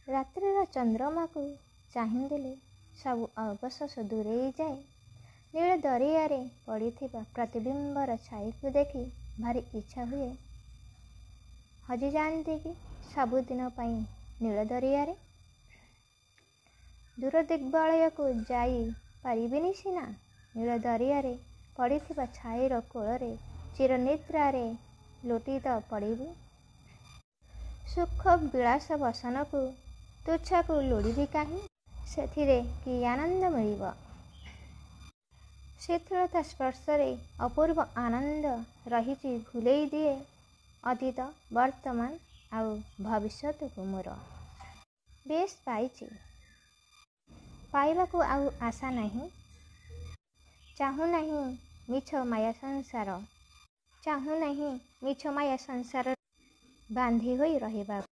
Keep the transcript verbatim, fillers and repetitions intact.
ରାତ୍ରିର ଚନ୍ଦ୍ରମାକୁ ଚାହିଁଦେଲେ ସବୁ ଅବଶୋଷ ଦୂରେଇ ଯାଏ। ନୀଳ ଦରିଆରେ ପଡ଼ିଥିବା ପ୍ରତିବିମ୍ବର ଛାଇକୁ ଦେଖି ଭାରି ଇଚ୍ଛା ହୁଏ ହଜିଯାଆନ୍ତି କି ସବୁଦିନ ପାଇଁ ନୀଳ ଦରିଆରେ। ଦୂର ଦିଗ୍ବଳୟକୁ ଯାଇ ପାରିବିନି ସିନା, ନୀଳ ଦରିଆରେ ପଡ଼ିଥିବା ଛାଇର କୋଳରେ ଚିରନିଦ୍ରାରେ ଲୋଟି ତ ପଡ଼ିବି। ସୁଖ ବିଳାସ ବସନକୁ ତୁଚ୍ଛାକୁ ଲୋଡ଼ିବି କାହିଁ? ସେଥିରେ କି ଆନନ୍ଦ ମିଳିବ? ଶିଥିଳତା ସ୍ପର୍ଶରେ ଅପୂର୍ବ ଆନନ୍ଦ ରହିଛି, ଭୁଲେଇ ଦିଏ ଅତୀତ, ବର୍ତ୍ତମାନ ଆଉ ଭବିଷ୍ୟତକୁ ମୋର। ବେଶ୍ ପାଇଛି। ପାଇବାକୁ ଆଉ ଆଶା ନାହିଁ। ଚାହୁଁନାହିଁ ମିଛ ମାୟା ସଂସାର। ଚାହୁଁନାହିଁ ମିଛ ମାୟା ସଂସାର ବାନ୍ଧି ହୋଇ ରହିବାକୁ।